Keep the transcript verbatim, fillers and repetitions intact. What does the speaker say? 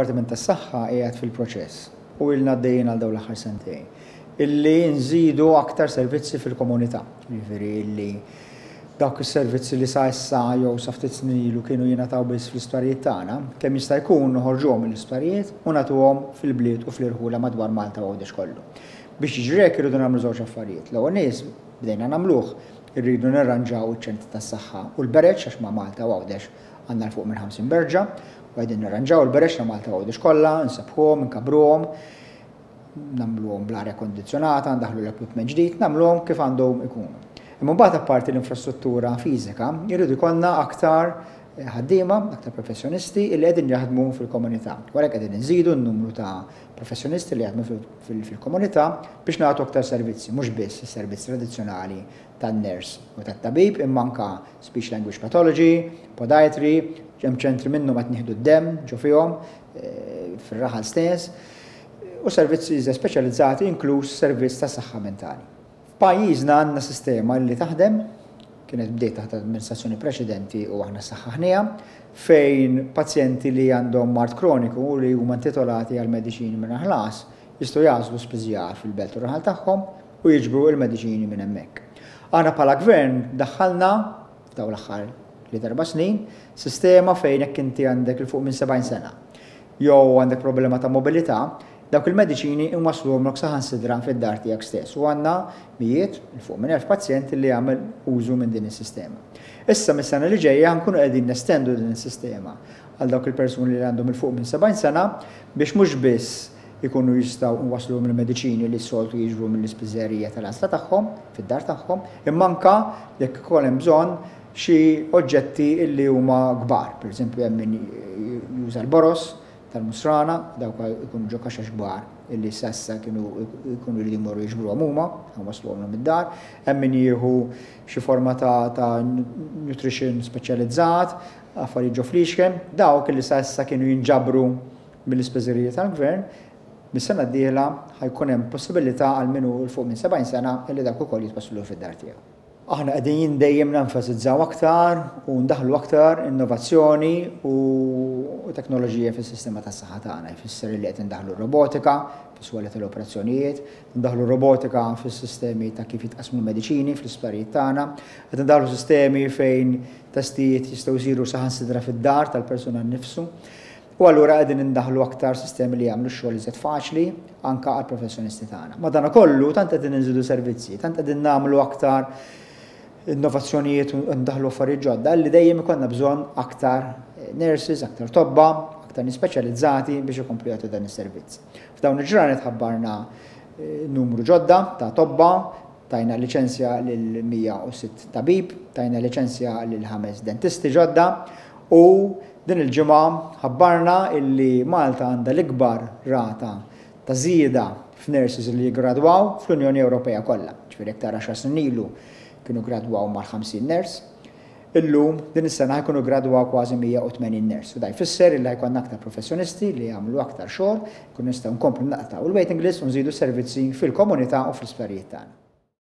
Id-Dipartiment tas-Saħħa qiegħed fil-proċess u ilna għaddejjin għal dawn l-aħħar sentejn illi nżidu aktar servizzi fil-komunità. Jiġifieri illi dawk is-servizzi li sa issa jew sa ftit snin ilu kienu jingħataw biss fl-isptarijiet tagħna, kemm jista' jkun noħorġuhom mill-isptarijiet u nagħtuhom fil-bliet u fl-irħula madwar Malta u Għawdex kollu. Biex jiġri hekk irridu nagħmlu żewġ affarijiet. L-ewwel nies bdejna nagħmluh, irridu nirranġaw iċ-ċentri tas-saħħa u l-bereġ, għax ma' Malta u Għawdex għandna 'l fuq minn ħamsin berġa, u qegħdin nirranġaw il-bereġ ta' Malta u Għawdex kollha, nsebbħuhom, inkabruhom, nagħmluhom bl-arja kondizzjonata, ndaħħlu l-equipment ġdid, nagħmluhom kif għandhom ikunu. Imma mbagħad, apparti l-infrastruttura fiżika, jridu jkollna aktar ħaddiema, aktar professjonisti li qegħdin jaħdmu fil-komunità. Wara qegħdin nżidu n-numru ta' professjonisti li jaħdmu fil-komunità biex nagħtu aktar servizzi, mhux biss is-servizzi tradizzjonali tan-nurse u tat-tabib, imma anka speech language pathology, podiatry, hemm ċentri minnhom qed nieħdu d-demm ġo fihom fir-raħal stess, u servizzi speċjalizzati, inkluż servizz ta' saħħa mentali. F'pajjiżna għandna sistema li taħdem, kienet bdiet taħt amministrazzjoni preċedenti u aħna saħħaħnieha, fejn pazjenti li għandhom mard kroniku u li huma intitolati għal mediċini mingħajr ħlas jistgħu jagħżlu spiżjar fil-belt u raħal tagħhom u jiġbru il-mediċini minn hemmhekk. Aħna bħala gvern daħħalna f'dawn l-aħħar li erba' snin sistema fejn jekk inti għandek 'il fuq minn sebgħin sena jew għandek problema ta' mobilità, dawk il-mediċini inwassluhomlok saħansitra fid-dar tiegħek stess. U għandna mijiet, 'il fuq minn elf pazjent li jagħmel użu minn din is-sistema. Issa mis-sena li ġejja nkunu qegħdin nestendu din is-sistema għal dawk il-persuni li għandhom 'il fuq minn sebgħin sena biex mhux biss ikunu jistgħu nwassluhom il-mediċini li s-soltu jiġbru mill-ispiżerija tal-għażla tagħhom fid-dar tagħhom, imma anka jekk ikun hemm bżonn xi oġġetti li huma kbar. Pereżempju, hemm min juża l-boroż tal-musrana, dawk ikunu ġo kaxex kbar illi s'issa kienu jkunu li jmorru jiġbruhom huma, wasluhom id-dar, hemm min jieħu xi forma ta', ta nutrition speċjalizzat, affarijiet ġo fliexken, dawk illi s'issa kienu jinġabru mill-ispiżerija tal-gvern, mis-sena d-dieħla ħa jkun hemm possibilità għal min hu 'l fuq minn sebgħin sena illi dak ukoll jitwasslu fid-dar tiegħu. Aħna qegħdin dejjem nenfasizzaw aktar u ndaħlu aktar innovazzjoni u teknoloġija fis-sistema tas-saħħa tagħna. Jfisser li qed indaħlu robotika fis-swali tal-operazzjonijiet, ndaħlu robotika fis-sistemi ta' kif jitqasmu l-mediċini fl-isptarijiet tagħna, qed indaħlu sistemi fejn testijiet jistgħu jsiru saħansitra fid-dar tal-persuna nnifsu. U allura qegħdin indaħlu aktar sistemi li jagħmlu x-xogħol iżjed faċli anka għall professjonisti tagħna. Madanakollu, tant qegħdin inżidu servizzi, tant qegħdin nagħmlu aktar innovazzjonijiet u ndaħlu affarijiet ġodda li dejjem ikollna bżonn aktar nurses, aktar tobba, aktar nies speċjalizzati biex ikomplu jagħtu dan is-servizz. F'dawn il-ġranet ħabbarna numru ġodda ta' tobba, tajna liċenzja lil mija u sitt tabib, tajna liċenzja lil ħames dentisti ġodda u din il-ġimgħa ħabbarna illi Malta għandha l-ikbar rata ta' żieda f'nurses li jiggradwaw fl-Unjoni Ewropea kollha. Ġifieri jekk tara, għaxar snin ilu kienu gradwaw mal-ħamsin nurse, illum din is-sena ħa jkunu gradwaw kważi mija u tmenin nurse. U da jfisser illi ħa jkollna aktar professjonisti li jagħmlu aktar xogħol, nkunu nistgħu nkomplu naqtgħu il-waiting list u nżidu servizzi fil-komunità u fl-isptarijiet tagħna.